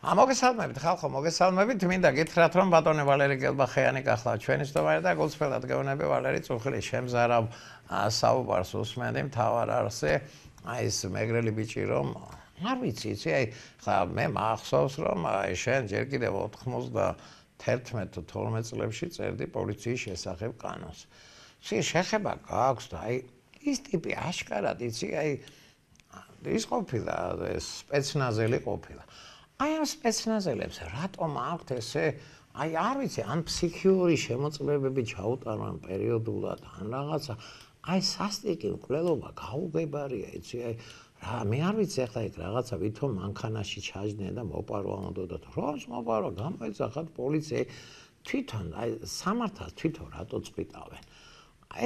მოგესალმებით ხალხო, მოგესალმებით. მინდა გითხრათ, რომ ბატონი ვალერი გელბახიანი გახლავთ ჩვენი სტუმარი და გულწრფელად გეუბნები ვალერი წუხილი შემზარავ საუბარს უსმენდი მთავარ არსზე. აი ეს მეგრელი ბიჭი რომ არ ვიცი, ხა მე მახსოვს რომ შენ ჯერ კიდევ 91 თუ 12 წლებში წერდი პოლიციის შესახებ კანონს. შეხება გაქვს და აი ის ტიპი აშკარად იცი, აი ის ყოფილა სპეცნაზელი ყოფილა. აი ამ სპეცნაზელებს რატომ აქვთ ესე აი არ ვიცი ან ფსიქიური შემოწმებები ჩაუტარონ პერიოდულად ან რაღაცა აი სასტიკი მკვლელობა გაუგებარია იცი აი რა მე არ ვიცი ახლა იქ რაღაცა ვითომ მანქანაში ჩაჯდნენ და მოპარვა უნდათ როს მოპარვა გამოეძახათ პოლიცია თვითონ აი სამართალს თვითონ რატო წვიტავენ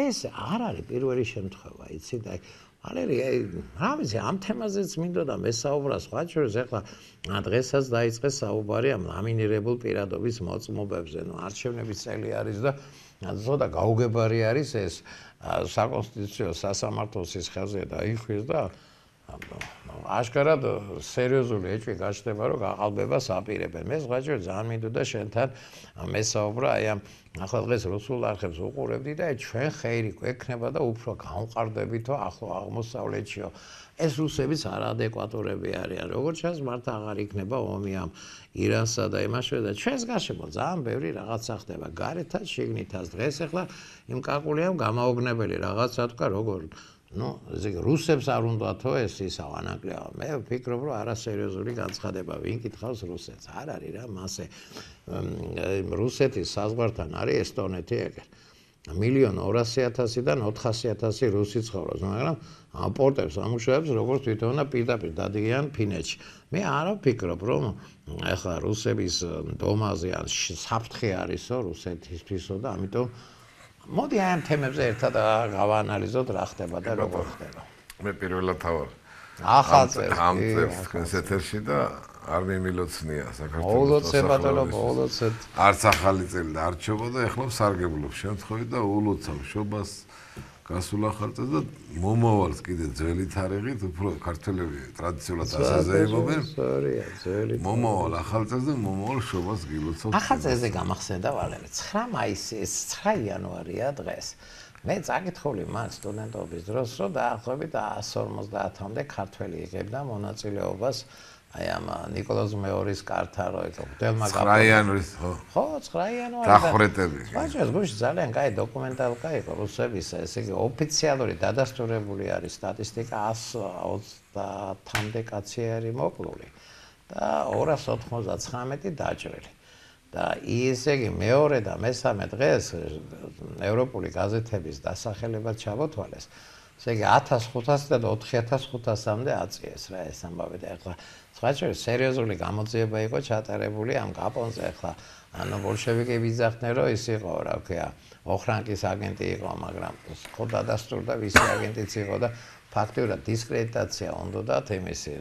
ეს არ არის პირველი შემთხვევა იცი და აი ვალერი რა ვიცი ამ თემაზეც მინდოდა მესაუბრა სხვა შორის ახლა დღესაც დაიწყეს საუბარი ამ ლამინირებულ პირადობის მოწმობებზე ნუ არჩევნების წელი არის და ზოდა გაუგებარი არის ეს საკონსტიტუციო სასამართლოს ხელზე დაიხვის და აშკარად სერიოზული ეჭვი გაჩნდება რომ გაყალბებას აპირებენ მე სხვა შორის ძალიან მინდოდა შენთან მესაუბრა აი ამ ახლა დღეს რუსულ არხებს უყურებდი და ჩვენ ხეირი გვექნება და უფრო გავყარდებითო ახლო აღმოსავლეთშიო ეს რუსებიც არაადეკვატურები არიან როგორც ჩანს მართ აღარ იქნება ომი ამ ირანსა და იმაშვილე და ჩვენს გარშემო ძალიან ბევრი რაღაცა ხდება გარეთაც შიგნითაც დღეს ახლა იმ კაკულიამ გამაოგნებელი რაღაცა თქვა როგორ ნუ რუსებს არ უნდათო ეს ისა ანაკლიავა მე ვფიქრობ რომ არასერიოზული განცხადება ვინ კითხავს რუსეთს არ არის რა მასე რუსეთის საზღვართან არის ესტონეთი ეგერ 1,200,000-დან 400,000 რუსი ცხოვრობს მაგრამ ამ პორტებს ამუშავებს როგორც თვითონა პირდაპირ დადიან ფინეთში მე არ ვფიქრობ რომ ახლა რუსების დომაზე ან საფრთხე არისო რუსეთისთვისო და ამიტომ მოდი ამ თემებზე ერთად გავაანალიზოთ რა ხდება და როგორ ხდება. მე პირველად თავარ. ახალ წელს ამ წელს თქვენს ეთერში და არ მიმილოცნია საქართველოს. მოლოცებატონო მოლოცეთ. არც ახალი წელი და არჩევა და ეხლა სარგებლობ შემთხვევით და ულოცავ შობას გასულ ახალ წელს და მომავალს კიდე ძველი თარიღით უფრო ქართველები ტრადიციულად ასაზეებობენ. სწორია, ძველი. მომავალ ახალ წელს და მომავალ შობას გილოცავ. ახალ წელზე გამახსენდა ვალერი 9 მაისის 9 იანვარია დღეს. მე წაკითხული მან სტუდენტობის დროს რომ დაახლოებით 150-მდე ქართველი იღებდა მონაწილეობას აი ამ ნიკოლოზ მეორის კართან რო ეკო დელმა გაფრთხილდა 9 იანვრის ხო 9 იანვარი დახვრეტები ვაჟებს გუშ ძალიან კაი დოკუმენტალკა იყო რუსების ესე იგი ოფიციალური დადასტურებული არის სტატისტიკა 130-მდე კაცი არის მოკლული და 299 დაჭრილი და ესე იგი მეორე და მესამე დღეს ევროპული გაზეთების დასახელებად ჩამოთვალეს ესე იგი 1500-დან 4500-მდე აწიეს რა ეს ამბავი და ახლა სხვა შორის სერიოზული გამოძიება იყო ჩატარებული ამ კაპონზე ახლა ანუ ბოლშევიკები იძახდნენ რომ ის იყო რა ქვია ოხრანკის აგენტი იყო მაგრამ ხო დადასტურდა ვისი აგენტიც იყო და ფაქტიურად დისკრედიტაცია უნდათ იმისი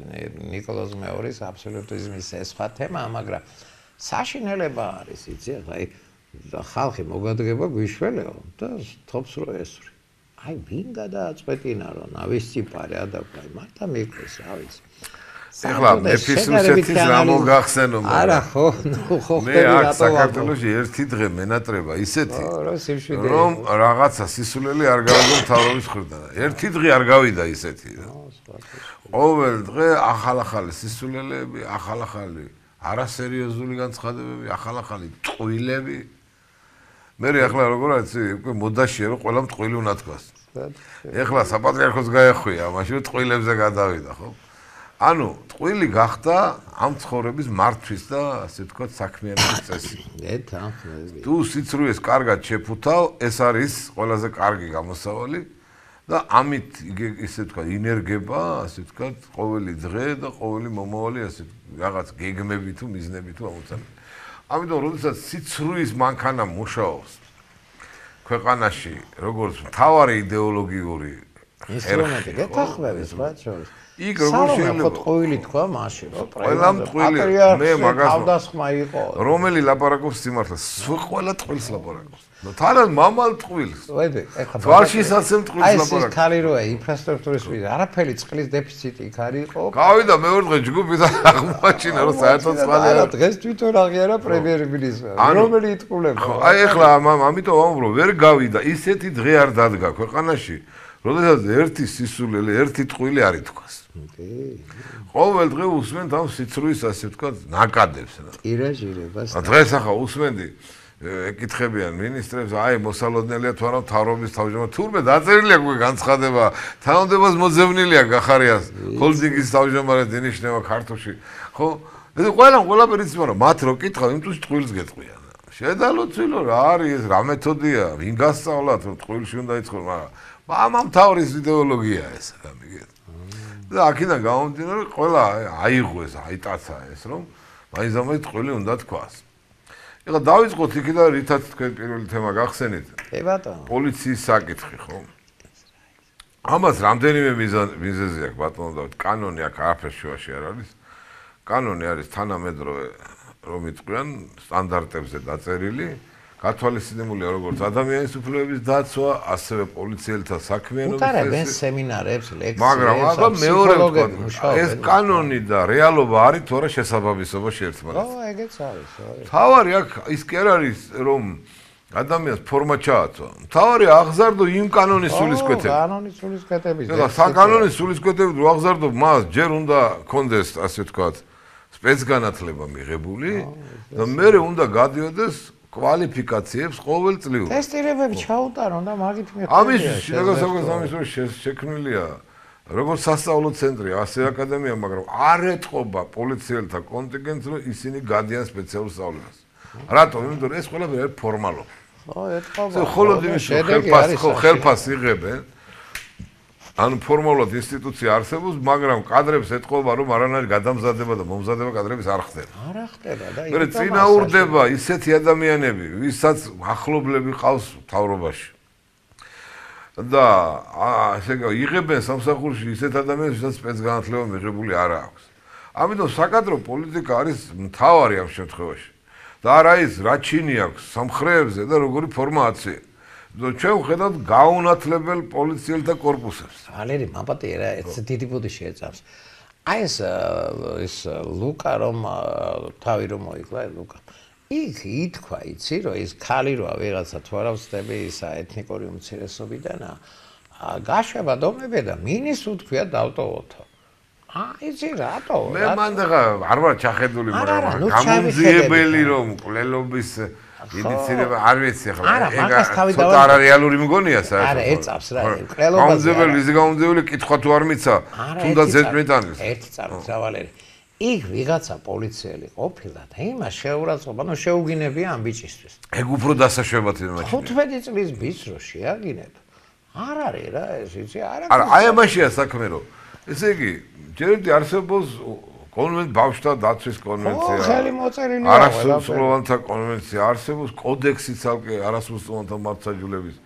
ნიკოლოზ მეორის აბსოლუტიზმის ეს სხვა თემა მაგრამ საშინელება არის იცი ახლა ხალხი მოგადგება გვიშველეო და თობს რო ესური აი ვინ გადააწყვეტინა რომ ნავისციპარე ადაკვაი მართა მიყვეს რა ვიცი ეხლა მეფის რუსეთის რა მოგახსენო არა ხო ნუ ხო მე აქ საქართველოში ერთი დღე მენატრება ისეთი რომ რაღაცა სისულელი არ გავიგო მთავრობის მხრიდან ერთი დღე არ გავიდა ისეთი ყოველ დღე ახალ-ახალი სისულელები ახალ-ახალი არასერიოზული განცხადებები ახალ-ახალი ტყუილები მე ახლა როგორ არის უკვე მოდაშია რომ ყველა ტყუილი უნდა თქვას ეხლა საპატრიარქოს გაეხვია მაშინ ტყუილებზე გადავიდა ხო ანუ ტყუილი გახდა ამ ცხოვრების მართვის და ასე ვთქვათ საქმიანობის წესი თუ სიცრუეს კარგად შეფუთავ ეს არის ყველაზე კარგი გამოსავალი და ამით ისე ვთქვათ ინერგება ასე ვთქვათ ყოველი დღე და ყოველი მომავალი ასე რაღაც გეგმები თუ მიზნები თუ ამოცანები ამიტომ როდესაც სიცრუის მანქანა მუშაობს ქვეყანაში როგორც მთავარი იდეოლოგიური ინსტრუმენტი გეთახმების რა შორის. იქ როგორ შეიძლება ტყუილი თქვა მაშინ რომ ყველა ტყუილი მე მაგას თავდასხმა იყო რომელი ლაპარაკობს სიმართლეს ყველა ტყუილს ლაპარაკობს თან მამალ ტყუილს ეხლა თვალშისაცემ ტყუილს ლაპარაკობს ეს ქალი როა ინფრასტრუქტურის მიზეზი არაფერი წყლის დეფიციტი იქ არის იყო გავიდა მეორე დღე ჯგუფი და აღმოაჩინა რომ საერთოდ წყალი არა დღეს თვითონ აღიარა პრემიერ-მინისტრმა რომელი იტყულება აი ეხლა ამიტომ ვამბობ ვერ გავიდა ისეთი დღე არ დადგა ქვეყანაში როდესაც ერთი სისულელი ერთი ტყუილი არ ითქვას ყოველ დღე უსმენთ ამ სიცრუის ასე ვთქვათ ნაკადებს რა ტირაჟირებას დღეს ახლა უსმენდი ეკითხებიან მინისტრებს აი მოსალოდნელია თუ არა მთავრობის თავმჯდომარე თურმე დაწერილია უკვე განცხადება თანამდებობას მოძებნილია გახარიას ჰოლდინგის თავმჯდომარე დანიშნება ქართულში ხო ეს ყველაფერი იცი მაგრამ მათ რო კითხავ იმთვის ტყუილს გეტყვიან შედალოცილო რა არის ეს რა მეთოდია ვინ გასწავლათ რომ ტყუილში უნდა იწყო მაგრამ ამ თავის იდეოლოგია ეს რა მიგეთ და აქედან გამომდინარე ყველა აიღო ეს აიტაცა ეს რომ მაინც ტყუილი უნდა თქვას ეხლა დავიწყოთ იქიდან რითაც თქვენ პირველი თემა გახსენეთ კი ბატონო პოლიციის საკითხი ხო ამას რამდენიმე მიზეზი აქვს ბატონო და კანონი აქ არაფერ შუაში არ არის კანონი არის თანამედროვე რომ იტყვიან სტანდარტებზე დაწერილი გათვალისწინებულია როგორც ადამიანის უფლებების დაცვა, ასევე პოლიციელთა საქმიანობის უტარებენ სემინარებს, ლექციებს, მაგრამ აბა მეორე ვთქვა, ეს კანონი და რეალობა არის თუ არა შესაბამისობაში ერთმანეთს. ო, ეგეც არის, თავარი აქ ის კი არ არის რომ ადამიანს ფორმა ჩააცვა. თავარი აღზარდო იმ კანონის სულისკვეთები. კანონის სულისკვეთების. და საკანონის სულისკვეთები რო აღზარდო მას ჯერ უნდა კონდეს ასე ვთქვათ სპეცგანათლება მიღებული და მეორე უნდა გადიოდეს კვალიფიკაციებს ყოველწლიურად. ტესტირებები ჩაუტარონ და მაგით მიხვდები. ამის შეგასაგოს შექმნილია როგორც სასწავლო ცენტრი, ასე აკადემია, მაგრამ არ ეთყობა პოლიციელთა კონტინგენტს, რომ ისინი გადიან სპეციალურ სწავლებას. რატომ? იმიტომ რომ ეს ყველაფერი არის ფორმალობა. ხო, ეთყობა. ხოლოდ იმის ხელფას იღებენ. ანუ ფორმალურად ინსტიტუცია არსებობს, მაგრამ კადრებს ეთყობა, რომ არანაირი გადამზადება და მომზადება კადრების არ ხდება. არ ხდება და მე წინაურდება ისეთი ადამიანები, ვისაც ახლობლები ყავს მთავრობაში. და ასე იღებენ სამსახურში ისეთ ადამიანებს, ვისაც სპეცგანათლება მიღებული არ აქვს. ამიტომ საკადრო პოლიტიკა არის მთავარი ამ შემთხვევაში. და არა ის რა ჩინი აქვს სამხრეებზე და როგორი ფორმაცია. ჩვენ ვხედავთ გაუნათლებელ პოლიციელთა კორპუსებს. ვალერი მაპატიერა ეს დიდი ბუდიში ეწავს. აი ეს ლუკა რომ თავი რომ მოიკლა ლუკა. იქ ითქვა იცი რომ ეს ქალი როა ვიღაცა თუ არა ვწდები ისა ეთნიკური უმცირესობიდან გაშვება დომები და მინის უთქვია დავტოვოთო. იცი რატო? მე მანდაღა არ ვარ ჩახედული მაგრამ გამომძიებელი რომ კვლელობის ინიცირება არ ვიცი ახლა ცოტა რეალური მგონია საერთოდ არა ეწავს რა კვლელობაზე გამომძიებელი კითხვა თუ არ მიცა თუნდაც ზედმეტანის ერთი წამოწა ვალერი იქ ვიღაცა პოლიციელი ყოფილა და იმას შეურაცხყოფა ნუ შეუგინებია ამ ბიჭისთვის ეგ უფრო დასაშვებად იმაში 15 წლის ბიჭს რო შეაგინებ არ არის რა ეს იცი არა აი ამაშია საქმე რომ ესე იგი ჯერჯერობით არსებობს ბავშვთა დაცვის კონვენცია. ხელი მოწერილია. არასრულოვანთა კონვენცია არსებობს, კოდექსი ცალკე არასრულოვანთა მართლმსაჯულების.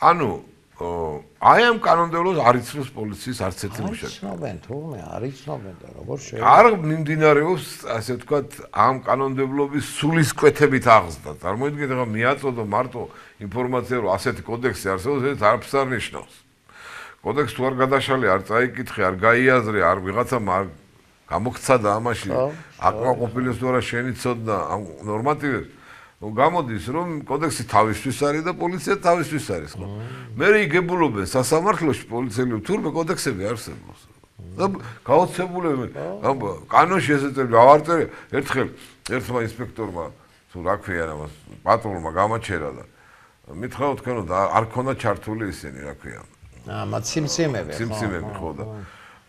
ანუ აი ამ კანონმდებლობას არ იცნობს პოლიციის არც ერთი მუშაკი. იცნობენ თურმე, არ იცნობენ და როგორ შეიძლება. არ მიმდინარეობს, ასე ვთქვათ, ამ კანონმდებლობის სულისკვეთებით აღზრდა. წარმოიდგინეთ, ახლა მიაწოდო მარტო ინფორმაცია, რომ ასეთი კოდექსი არსებობს, ეს არაფერს არ ნიშნავს. კოდექსი თუ არ გადაშალე, არ წაიკითხე, არ გაიაზრე, არ ვიღაცამ არ გამოგცადა ამაში აკმაყოფილებს თუ არა შენიცოდნა ამ ნორმატივებს გამოდის რომ კოდექსი თავისთვის არის და პოლიცია თავისთვის არის ხო მე იგებულობენ სასამართლოში პოლიციელი თურმე კოდექსები არსებობს და გაოცებულები ამ კანონში ესეწები ავარწერე ერთხელ ერთმა ინსპექტორმა თუ რა ქვია ამას პატრონმა გამაჩერა და მითხრა თქვენ რომ არ ქონდა ჩართული ისინი რა ქვია სიმციმები ხო და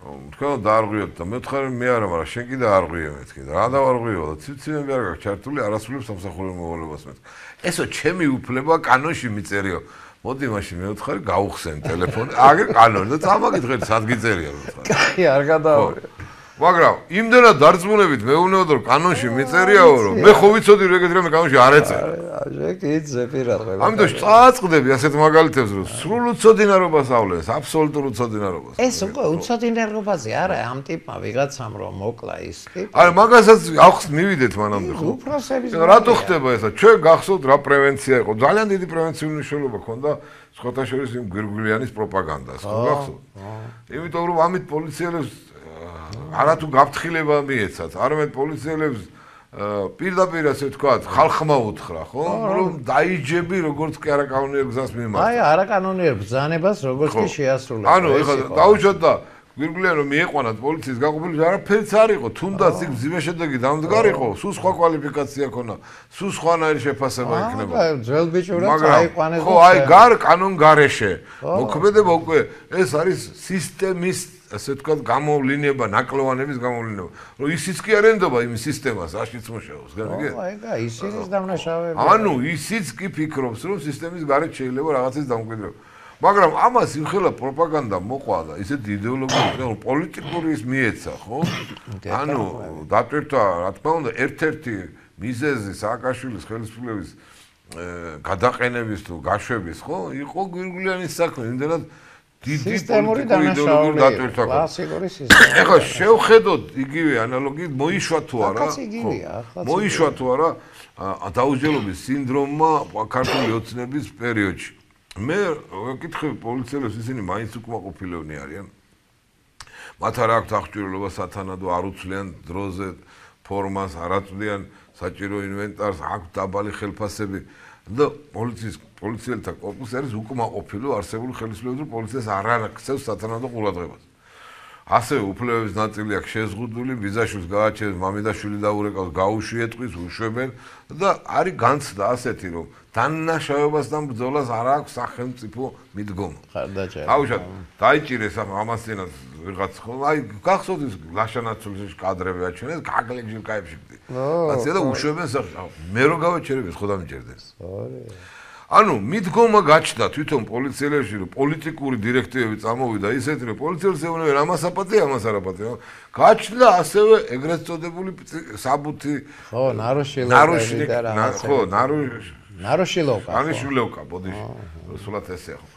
თქვენ დაარღვიოთ და მე ვთხარ მე არა მაგრამ შენ კიდე არღვიე მეთქი და რა დავარღვიო და ციციმები არ გაქვს ჩართული არასრულებს სამსახურებელ მოვალებას მეთქი ესო ჩემი უფლება კანონში მიწერიო მოდი მაშინ მე ვთხარი გავუხსენ ტელეფონი აგერ კანონი და წამაგითხეთ სად გიწერია მე ვთხარი კაი არ გადაავრიო მაგრამ იმდენად დარწმუნებით მეუბნებოდ რომ კანონში მიწერიაო რომ მე ხო ვიცოდი რომ ეგეთ რამე კანონში არ ეწერა. შეკიძე პირადღება. ამიტომ წააწყდები ასეთ მაგალითებს რომ სრულ უცოდინარობას ავლენს, აბსოლუტურ უცოდინარობას. ეს უკვე უცოდინარობაზე არა ამ ტიპმა ვიღაცამ რომ მოკლა ის ტიპი. არა მაგასაც ახს მივიდეთ მანამდე ხო? უფროსების რატო ხდება ესა? ჩვენ გახსოვთ რა პრევენცია იყო? ძალიან დიდი პრევენციული მნიშვნელობა ჰქონდა სხვათა შორის იმ გვირგვლიანის პროპაგანდას, ხო გახსოვთ? იმიტომ რომ ამით პოლიციელებს არათუ გაფრთხილება მიეცათ, არამედ პოლიციელებს პირდაპირ ასე ვთქვათ, ხალხმა უთხრა, ხო? რომ დაიჯები როგორც კი არაკანონიერ გზას მიმართა. აი, არაკანონიერ ბრძანებას როგორც კი შეასრულა. ანუ ეხლა დაუშვათ და გვირგვლიან რომ მieყვანათ პოლიციის გაყოფილი არაფერიც არ იყო, თუნდაც იქ მძიმე შედეგი დამდგარიყო, სულ სხვა კვალიფიკაცია ქონა, სულ სხვანაირი შეფასება იქნება. ძველ ბიჭურად აიყვანეს. ხო, აი კანონ გარეშე. მოქმედება უკვე ეს არის სისტემის ასე ვთქვათ გამოვლინება, ნაკლოვანების გამოვლინება. რომ ისიც კი არ ენდობა იმ სისტემას, რაშიც მუშაობს, განიგე? აი, ისიც დამნაშავეა. ანუ ისიც კი ფიქრობს, რომ სისტემის გარეთ შეიძლება რაღაცის დამკვიდრება. მაგრამ ამას იმხელა პროპაგანდა მოყვა და ისეთი იდეოლოგიური, რომ პოლიტიკური ის მიეცა, ხო? ანუ დატვირთვა, რა თქმა უნდა, ერთ-ერთი მიზეზი სააკაშვილის ხელისუფლების გადაყენების თუ გაშვების, ხო? იყო გვირგვლიანის საქმე, იმდენად დიდი იდეოლოგიური დატვირთვა. კლასიკური სისტემა. ეხლა შევხედოთ იგივე ანალოგიით მოიშვა თუ არა? მოიშვა თუ არა დაუჯელობის სინდრომმა ქართული ოცნების პერიოდში. მე ვეკითხები პოლიციელებს, ისინი მაინც უკმაყოფილებნი არიან. მათ არ აქვთ აღჭურვილობა სათანადო, არ უცვლიან დროზე ფორმას, არ აწვდიან საჭირო ინვენტარს, აქვთ დაბალი ხელფასები და პოლიციელთა კორპუსი არის უკმაყოფილო არსებული ხელისუფლების, რომ პოლიციას არ აქცევს სათანადო ყურადღებას. ასევე უფლებების ნაწილი აქვს შეზღუდული, ბიძაშვილს გააჩენს, მამიდაშვილი დაურეკავს, გაუშვიეთყვის, უშვებენ და არის განცდა ასეთი, რომ დანაშაულებასთან ბრძოლას არ აქვს სახელმწიფო მიდგომა. აუშვათ, დაიჭირეს ამასთანაც ვიღაც ხო, აი გახსოვთ ის ლაშანაცულის კადრები აჩვენეს, გაგლეგჟილ კაებში. ასე და უშვებენ სახე. მე რო გავაჩერებ ეს ხო დამიჭერდეს. ანუ მიდგომა გაჩნდა თვითონ პოლიციელებში, რომ პოლიტიკური დირექტივები წამოვიდა ისეთი, რომ პოლიციელს ეუბნებიან ამას აპატია, ამას არ აპატია. გაჩნდა ასევე ეგრეთ წოდებული საბუთი. ხო, ნაროშილოვკა და რა. ხო, ნაროშილოვკა. ანიშვილოვკა, ბოდიში. სულად ესეა ხო.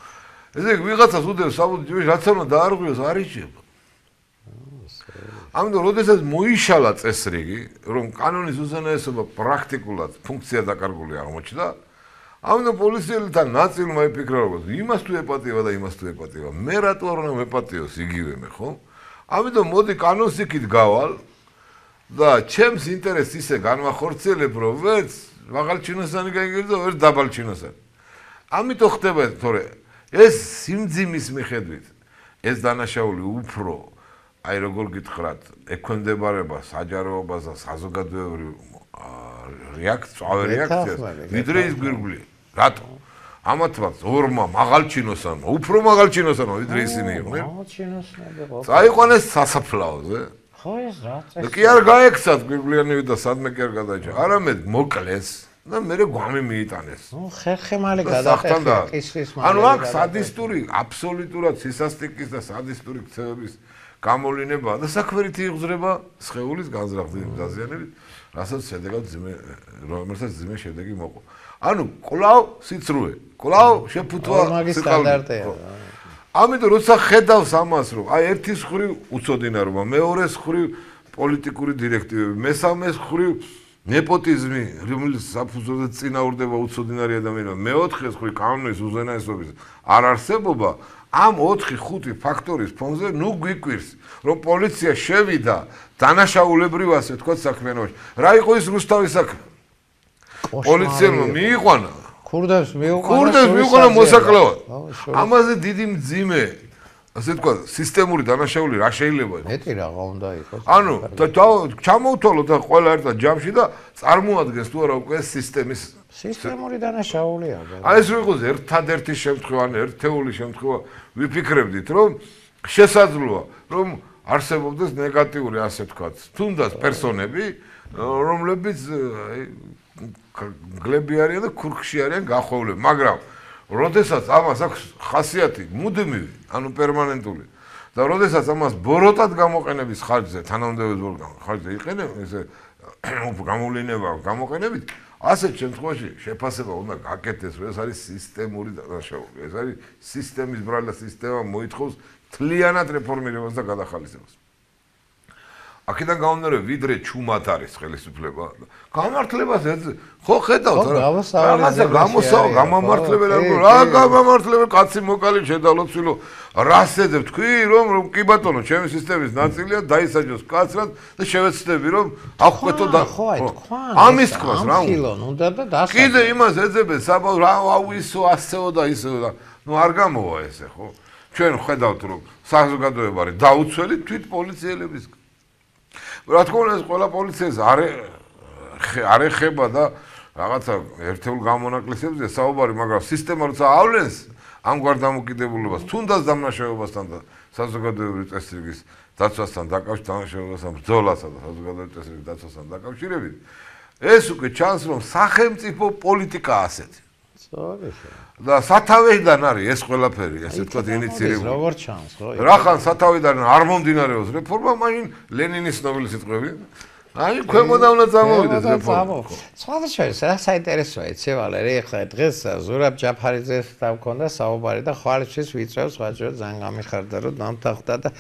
ესე იგი ვიღაცას უდევს საბუთი ჯიში, რაც არ უნდა დაარღვიოს, არ იჭება. ამიტომ როდესაც მოიშალა წესრიგი, რომ კანონის უზენაესობა პრაქტიკულად ფუნქცია დაკარგული აღმოჩნდა, ამიტომ პოლიციელთა ნაწილმა იფიქრა, რომ იმას თუ ეპატიება და იმას თუ ეპატიება, მე რატო არ უნდა მეპატიოს იგივე მე, ხო? ამიტომ მოდი კანონს იქით გავალ და ჩემს ინტერესს ისე განვახორციელებ, რომ ვერც მაღალჩინოსანი გაიგრძელო, ვერც დაბალჩინოსანი. ამიტომ ხდება, თორე ეს სიმძიმის მიხედვით ეს დანაშაული უფრო აი როგორ გითხრათ, ექვემდებარება საჯაროებას და საზოგადოებრივ რეაქციას, ვიდრე ის გვირგვლი. რატო? ამათმა ორმა მაღალჩინოსანმა, უფრო მაღალჩინოსანმა ვიდრე ისინი იყვნენ. მაღალჩინოსნები ხო? წაიყვანეს სასაფლაოზე. ხო ეს რა წესი? კი არ გაექცათ გვირგვლიანები და სადმე კი არ გადაჭა. არამედ მოკლეს და მერე გვამი მიიტანეს. ნუ ხერხემალი გადაყედა ყისრის მალე. ანუ აქ სადისტური, აბსოლუტურად სისასტიკის და სადისტური ქცევების გამოვლინებაა და საქმერითი იღზრება სხეულის განზრახდით დაზიანებით, რასაც შედეგად რომელსაც ძიმე შედეგი მოყვა. ანუ კვლავ სიცრუე, კვლავ შეფუთვა სტანდარტია. ამიტომ როცა ხედავს ამას, რომ აი ერთის ხრივ უცოდინარობა, მეორეს ხრივ პოლიტიკური დირექტივები, მესამეს ხრივ ნეპოტიზმი, რომელიც საფუძველზე წინაურდება უცოდინარი ადამიანმა, მეოთხეს ხრივ კანონის უზენაესობის არარსებობა, ამ 4-5 ფაქტორის ფონზე ნუ გვიკვირს, რომ პოლიცია შევიდა დანაშაულებრივ ასე ვთქვათ საქმიანობაში. რა იყო ის რუსთავის საქმე? პოლიციელმა მიიყვანა. ქურდებს მიიყვანა მოსაკლავად. ამაზე დიდი მძიმე ასე ვთქვათ, სისტემური დანაშაული რა შეიძლება იყოს? მეტი რაღა უნდა იყოს. ანუ ჩამოვთვალოთ და ყველა ერთად ჯამში და წარმოადგენს თუ არა უკვე სისტემის სისტემური დანაშაულია. აი ეს იყოს ერთადერთი შემთხვევა, ერთეული შემთხვევა ვიფიქრებდით, რომ შესაძლოა, რომ არსებობდეს ნეგატიური ასე ვთქვათ, თუნდაც პერსონები, რომლებიც გლები არიან და ქურქში არიან გახვევლები, მაგრამ როდესაც ამას აქვს ხასიათი მუდმივი, ანუ პერმანენტული და როდესაც ამას ბოროტად გამოყენების ხარჯზე, თანამდებობის ხარჯზე იყენებენ, ესე გამოვლენა გამოყენებით, ასეთ შემთხვევაში შეფასება უნდა გაკეთდეს, რომ ეს არის სისტემური დანაშაული. ეს არის სისტემის ბრალი და სისტემა მოითხოვს თლიანად რეფორმირებას და გადახალისებას. აქედან გამომდინარე, ვიდრე ჩუმად არის ხელისუფლება. გამართლებას ხო ხედავთ რა. რაღაცა გამომართლებელი რა გამომართლებელი კაცი მოკალი შედალოცვილო რას ეძებ თქვი რომ კი ბატონო ჩემი სისტემის ნაწილია დაისაჯოს კაცრად და შევეცდები რომ აღკვეთო და ამის თქოს რა კიდე იმას ეძებენ საბავ რა აუისო ასეო და ისეო და ნუ არ გამოვა ესე ხო ჩვენ ხედავთ რომ საზოგადოება არის დაუცველი თვით პოლიციელების რა თქმა უნდა ეს ყველა პოლიციას არ ეხება და რაღაცა ერთეულ გამონაკლისებზე საუბარი მაგრამ სისტემა როცა ავლენს ამგვარ დამოკიდებულებას თუნდაც დამნაშავებასთან და საზოგადოებრივი წესრიგის დაცვასთან დაკავშირებასთან ბრძოლასა და საზოგადოებრივი წესრიგის დაცვასთან დაკავშირებით ეს უკვე ჩანს რომ სახელმწიფო პოლიტიკაა ასეთი და სათავეიდან არის ეს ყველაფერი ესე ვთქვათ ინიციირებული როგორ ჩანს ხო რახან სათავეიდან არ მომდინარეობს რეფორმა მაშინ ლენინის ნობელის სიტყვები აი ქვემოდან უნდა წამოვიდეს რეფორმა სხვადასხვა რა საინტერესოა იცი ვალერი ეხლა დღეს ზურაბ ჯაფარიძესთან მქონდა საუბარი და ხვალისთვის ვიწევს ვაჭრო ძალიან გამიხარდა რომ დამთახდა და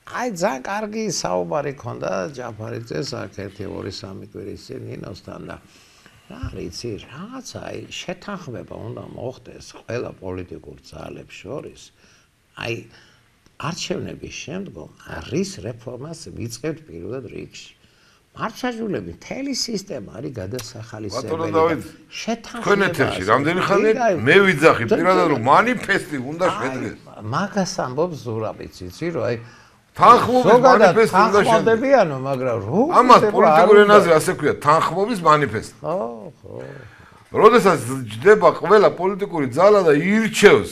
აი ძალიან კარგი საუბარი ქონდა ჯაფარიძეს აქ 1-2-3 კვირის წინ ნინოსთან და რა ვიცი რაღაცა აი შეთანხმება უნდა მოხდეს ყველა პოლიტიკურ ძალებს შორის აი არჩევნების შემდგომ რის რეფორმას ვიწყებთ პირველად რიგში მარცხაჟულები თელი სისტემა არის გადასახალისებელი შეთანხმება თქვენ ეთერში რამდენი ხანია მე ვიძახი პირადად რომ მანიფესტი უნდა შედგეს მაგას ამბობს ზურაბიც იცი რომ აი თანხმობის მანიფესტი უნდა შედგებიანო მაგრამ რო ამას პოლიტიკურ ენაზე ასე ქვია თანხმობის მანიფესტი ხო როდესაც ჯდება ყველა პოლიტიკური ძალა და ირჩევს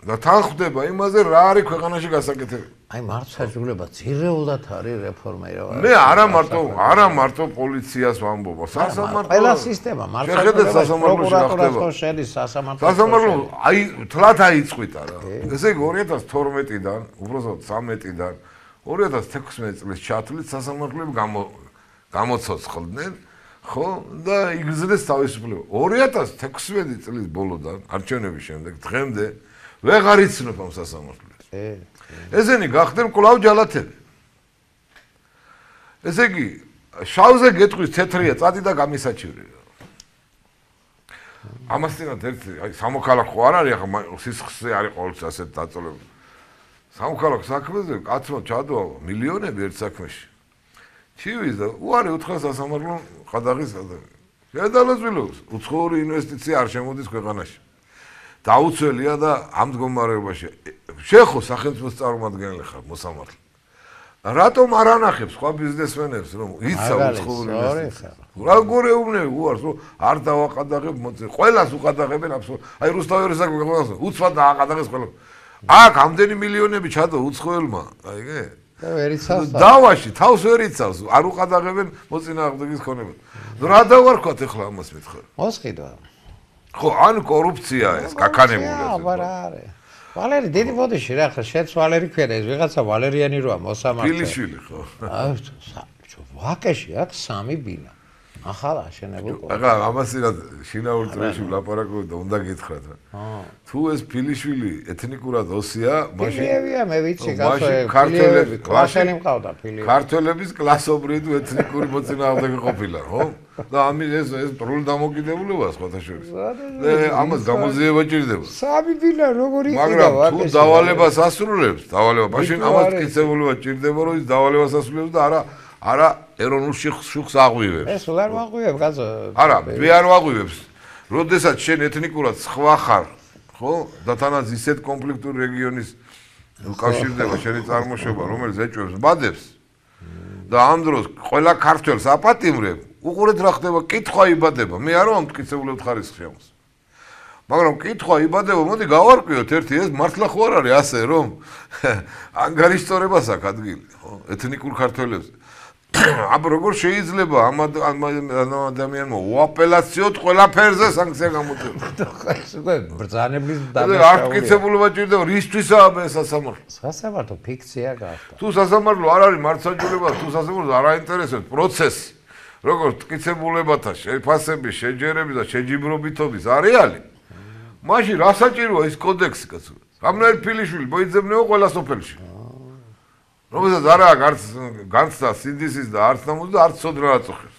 და თანხდება იმაზე რა არის ქვეყანაში გასაკეთებელი აი მარცხაჟულება ძირეულად არის რეფორმირება მე არა მარტო პოლიციას ვამბობ სასამართლო ყველა სისტემა მარცხაჟულება პროკურატურას შედის სასამართლო აი თლათ აიწყვიტა რა ესე იგი 2012-დან უბრალოდ 13-დან 2016 წლის ჩათვლით სასამართლოები გამოცოცხლდნენ ხო და იგრძნეს თავისუფლება 2016 წლის ბოლოდან არჩევნების შემდეგ დღემდე ვეღარ იცნობ ამ სასამართლოს ესენი გახდნენ კვლავ ჯალათები ესე იგი შავზე გეტყვის თეთრია წადი და გამისაჩივრე ამასთანავე ერთი აი სამოქალაქო არ არის ახლა სისხლზე არის ყოველთვის ასეთ დაწოლებული სამოქალაქო საქმეზე კაცმა ჩადო მილიონები ერთ საქმეში ჩივის და უარი უთხრა სასამართლო ყადაღის შედალოცვილობს უცხოური ინვესტიცია არ შემოდის ქვეყანაში დაუცველია და ამ მდგომარეობაში შეხო სახელმწიფოს წარმომადგენელი ხარ მოსამართლე რატომ არ ანახებს სხვა ბიზნესმენებს რომ იცავ უცხოური ინვესტიცია რა გორეუბნები უარს რომ არ დავაყადაღებ ყველას უყადაღებენ აბსოლუტურად აი რუსთავის საქმე უცბად დააყადაღეს ყველა აქ ამდენი მილიონები ჩადო უცხოელმა აიგე და ვერ იცავს დავაში თავს ვერ იცავს არ უყადაღებენ მოწინააღმდეგის ქონება რა დავარქვათ ახლა ამას მითხარ მოსყიდვა ხო ან კორუფცია ეს გაქანებული არა არის ვალერი დიდი ბოდიში რა ხა შეც ვალერი ქვია ეს ვიღაცა ვალერიანი როა მოსამართლე ფილიშვილი ხო ვაკეში აქვს 3 ბინა ახლა აშენებულ ახლა ამასინად შინაურ წრეში ვლაპარაკობ და უნდა გითხრათ რა თუ ეს ფილიშვილი ეთნიკურად ოსია მაშინ ფილიევია მე ვიცი ქართველები კლასელი მყავდა ფილიევი ქართველების კლასობრივი თუ ეთნიკური მოწინააღმდეგე ყოფილა ხო და ამის ეს პრულ დამოკიდებულება სხვათა შორის ამას გამოძიება ჭირდება 3 ბინა როგორი იყიდა მაგრამ თუ დავალებას ასრულებს დავალება მაშინ ამას კიცებულება ჭირდება რომ ის დავალებას ასრულებს და არა ეროვნულ შუქს აღვივებს ეს ვერ ვაღვივებ კაცო არა მე არ ვაღვივებს როდესაც შენ ეთნიკურად სხვა ხარ ხო და თანაც ისეთ კონფლიქტური რეგიონის უკავშირდება შენი წარმოშობა რომელიც ეჭვებს ბადებს და ამ დროს ყველა ქართველს აპატიმრებ უყურეთ რა ხდება კითხვა იბადება მე არ ვამ მტკიცებულებ ხარისხს შემოს მაგრამ კითხვა იბადება მოდი გავარკვიოთ ერთი ეს მართლა ხო არ არის ასე რომ ანგარიშწორებას აქვს ადგილი ხო ეთნიკურ ქართველებზე აბა როგორ შეიძლება ამ ადამიანმა უაპელაციოდ ყველაფერზე სანქცია გამოწეროს? ეს უკვე ბრძანებლის დამაშავება. არ მტკიცებულობა ჭირდება, რისთვისაა ეს სასამართლო? სასამართლო ფიქცია გახდა. თუ სასამართლო არ არის მართლმსაჯულება, თუ სასამართლოს არ აინტერესებს პროცესი, როგორც მტკიცებულებათა შეფასების, შეჯერების და შეჯიბრობითობის არეალი, მაშინ რა საჭიროა ის კოდექსი კაცო? გამნაირ ფილიშვილი მოიძებნეო ყველა სოფელში. რომელსაც არ აქვს არც განცდა სინდისის და არც ნამუს და არც სოდრა აწუხებს.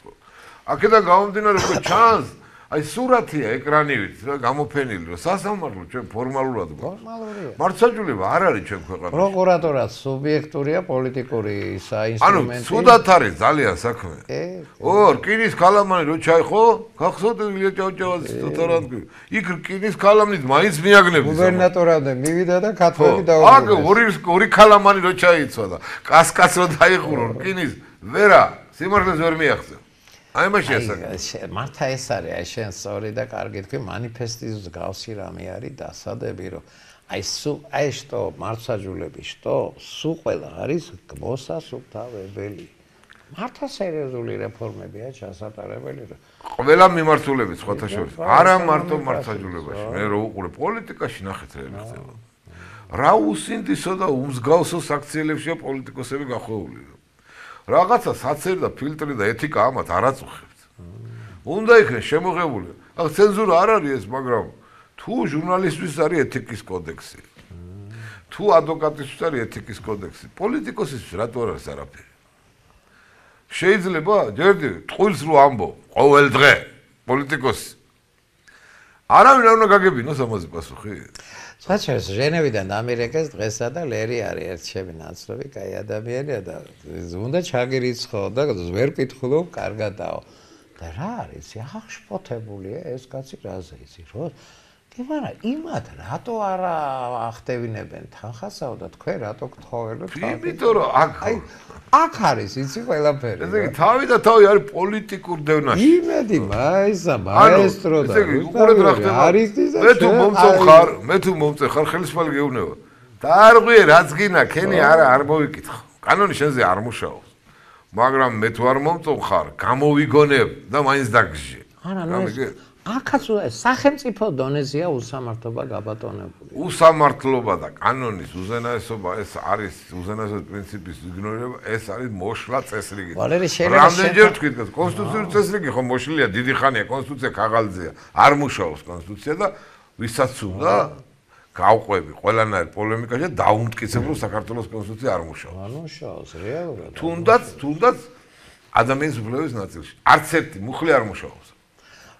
აქედან გამომდინარე უკვე ჩანს, აი სურათია ეკრანივით რა გამოფენილი, რომ სასამართლო ჩვენ ფორმალურად ფორმალურია. მართლმსაჯულება არ არის ჩვენ ქვეყანაში. პროკურატორად სუბიექტურია პოლიტიკური საინსტრუმენტი. ანუ ცუდად არის ძალიან საქმე. რკინის ქალამანი რო ჩაიხო, გახსოვთ ილია ჭავჭავაძის თოთარანტი. იქ რკინის ქალამნით მაინც მიაგნებს. გუბერნატორამდე მივიდა და ქართველი დაუბრუნდა. ორი ქალამანი რო ჩაიცვა და კასკას რო დაიხურო რკინის, ვერა, სიმართლეს ვერ მიაღწევ. აი მაშინ მართა ეს არის აი შენ სწორი და კარგი თქვი მანიფესტის გავსი რამე არის დასადები რომ აი შტო მართლმსაჯულების შტო სულ ყველა არის მოსასუფთავებელი მართა სერიოზული რეფორმებია ჩასატარებელი რომ ყველა მიმართულებით სხვათა შორის არა მარტო მართლმსაჯულებაში მე რო უყურე პოლიტიკაში ნახეთ რა ხდება რა უსინდისო და უმსგავსო საქციელებშია პოლიტიკოსები გახვეული რაღაცა საცერი და ფილტრი და ეთიკა ამათ არ აწუხებთ. უნდა იქნეს შემოღებული. ახ ცენზურა არ არის ეს, მაგრამ თუ ჟურნალისტვის არის ეთიკის კოდექსი. თუ ადვოკატისთვის არის ეთიკის კოდექსი, პოლიტიკოსისთვის რატო არ არის არაფერი? შეიძლება ჯერდი ტყუილს რო ამბო ყოველ დღე პოლიტიკოსი. არავინ არ უნდა გაგებინოს ამაზე პასუხი. საჩერს ჟენევიდან ამერიკას დღესა და ლერი არის ერთშევი ნაცნობი, კაი ადამიანია და უნდა ჩაგირიცხო და ვერ კითხულობ, კარგადაო. და რა არის? აღშფოთებულია ეს კაცი რაზე იცი, რომ კიბარა იმათ რატო არ ახდევინებენ თანხასაო და თქვენ რატო გთხოველოთ? იმიტომ რომ აქ არის იცი ყველაფერი. ესე იგი თავი და თავი არის პოლიტიკურ დევნაში. იმედი მაესტრო და უყურეთ რა ხდება. მე თუ მომწეხარ ხელისმალი გეუბნება. დაარღვიე რაც გინა, ქენი არ მოვიკითხო. კანონი შენზე არ მუშაობს. მაგრამ მე თუ არ მომწონხარ, გამოვიგონებ და მაინც დაგჟე. აქაც სახელმწიფო დონეზეა უსამართლობა გაბატონებული. უსამართლობა და კანონის უზენაესობა ეს არის უზენაესობის პრინციპის იგნორირება, ეს არის მოშლა წესრიგი. რამდენჯერ თქვით, კონსტიტუციური წესრიგი ხო მოშლილია დიდი ხანია, კონსტიტუცია ქაღალდზეა, არ მუშაობს კონსტიტუცია და ვისაც უნდა გავყვები ყველანაირ პოლემიკაში და დაუმტკიცებ რომ საქართველოს კონსტიტუცია არ მუშაობს. არ მუშაობს რეალურად. თუნდაც ადამიანის უფლებების ნაწილში არც ერთი მუხლი არ მუშაობს.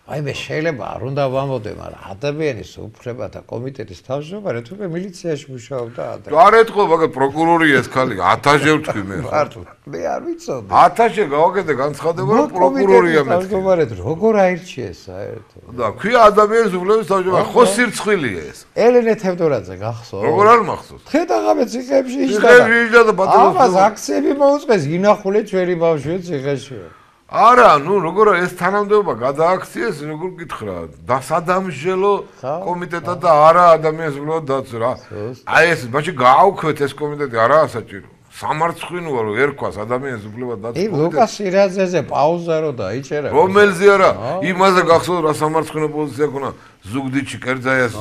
აი მე შეიძლება არ უნდა ვამბობდე, მაგრამ ადამიანის უფლებათა კომიტეტის თავმჯდომარე თუმცა მილიციაში მუშაობდა ადამიანი. არ ეთქო, მაგრამ პროკურორი ეს ქალი 1000-ჯერ ვთქვი მე. მე არ ვიცოდი. 1000-ჯერ გავაკეთე განცხადება, რომ პროკურორია მე. თავმჯდომარე როგორ აირჩიეს საერთოდ? და ქვია ადამიანის უფლებების თავმჯდომარე, ხო სირცხვილია ეს. ელენე თევდორაძე გახსოვს? როგორ არ მახსოვს? ხედაღამე ციხეებში იჯდა და ბატონო. ამას აქციები მოუწყეს, ინახულე ჩვენი ბავშვი ციხეში. არა, როგორ ეს თანამდებობა გადააქციეს, როგორ გითხრა, დასადამშელო კომიტეტა და არა ადამიანის უფლებათა დაცვა რა. აი ეს ბაჭი გააუქვეთ ეს კომიტეტი, არაა საჭირო. სამარცხვინოა რომ ერქვას ადამიანის უფლებათა დაცვა კომიტეტი. ლუკას ირაძეზე პაუზა რო დაიჭერა. რომელზე არა, იმაზე გახსოვთ რა სამარცხვინო პოზიცია ქონა ზუგდიდში კერძაიას.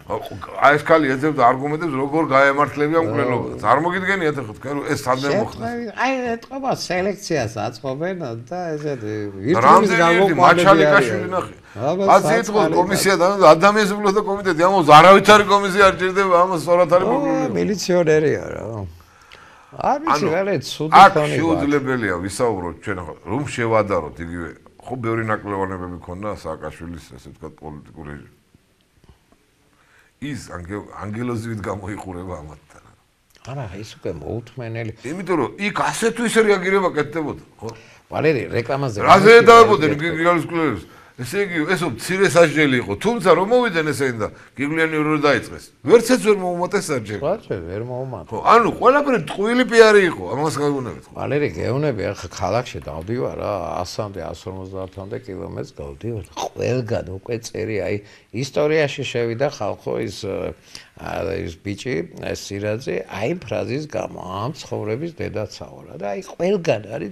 აი ეს ქალი ეძებდა არგუმენტებს როგორ გაემართლებია მკვლელობა. წარმოგიდგენიათ ხო თქვენ ეს სადმე მოხდა. აი ეთყობა სელექციას აწყობენ და ესეთი ვირტუალის გამოყვანები ნახე. ასე ეთყობს კომისია და ადამიანის უფლებათა კომიტეტი ამას არავითარი კომისია არ ჭირდება ამას სწორად არის მოკლული. მილიციონერია რა. არ ვიცი რა ცუდი ხონი. აქ შეუძლებელია ვისაუბროთ ჩვენ რომ შევადაროთ იგივე ხო ბევრი ნაკლებობები ქონდა სააკაშვილის ესე ვთქვათ პოლიტიკური ის ანგელოზივით გამოიყურება ამათთან. არა, ის უკვე მოუთმენელი. იმიტომ რომ იქ ასეთ ის რეაგირება კეთდებოდა, ხო? ვალერი რეკლამაზე. რაზე დაებოდნენ გიგალის კლუბებს? ესე იგი, ესო მცირე სასჯელი იყო, თუმცა რომ მოვიდნენ ესენი და გიგვიანი რო დაიწყეს. ვერცეც ვერ მოუმატეს სასჯელი. ვაჭე, ვერ მოუმატეს. ხო, ანუ ყველაფერი ტყუილი პიარი იყო, ამას გავიგონებთ. ვალერი, გეუბნები, ახლა ქალაქში დავდივარ რა, 100-მდე, 150-მდე კილომეტრს გავდივარ. ყველგან უკვე წერი, აი, ისტორიაში შევიდა ხალხო ის ბიჭი, სირაძე, აი ფრაზის გამო, ამ ცხოვრების დედაცაო რა და აი ყველგან არის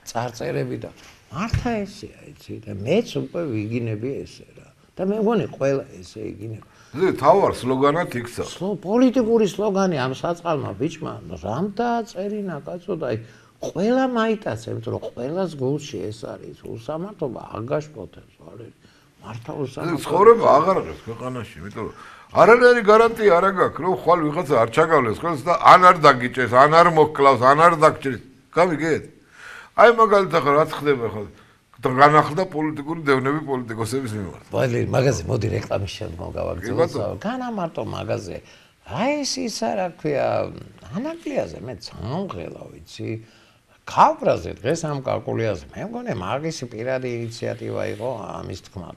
წარწერები და მართა ესეა, იცი და მეც უკვე ვიგინები ესე რა. და მე მგონი ყველა ესე იგინება. ზე თავარ სლოგანად იქცა. პოლიტიკური სლოგანი ამ საწყალმა ბიჭმა რამ დააწერინა კაცო და აი ყველა მაიტაცა, იმიტომ რომ ყველას გულში ეს არის უსამართლობა აგაშფოთებს ვარელი. მართა უსამართლობა. ცხოვრება აღარ არის ქვეყანაში, იმიტომ რომ არანაირი გარანტია არ აქვს, რომ ხვალ ვიღაცა არ ჩაგავლეს ხელს და ან არ დაგიჭეს, ან არ მოკლავს, ან არ დაგჭირს. გამიგეთ? აი მაგალითად რაც ხდება ხო განახლდა პოლიტიკური დევნები პოლიტიკოსების მიმართ. ვაილერი მაღაზია მოდი რეკლამის შემდგომ გავაგრძელო. განამარტო მაღაზია. აი ეს ისა რა ქვია, ანაკლიაზე მე წამღელა ვიცი. ქავრაზე დღეს ამ კალკულიაზე მე მგონი მაგისი პირადი ინიციატივა იყო ამის თქმა.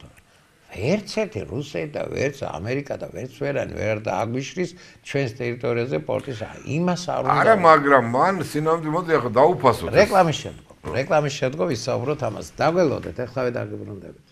ვერც ერთი რუსეთი და ვერც ამერიკა და ვერც ვერანი ვერ დააგვიშრის ჩვენს ტერიტორიაზე პორტის იმას არ უნდა. არა, მაგრამ მან სინამდვილე მოდი ახლა დაუფასოთ. რეკლამის შემდგომ ვისაუბროთ ამას. დაგველოდეთ, ახლავე დაგიბრუნდებით.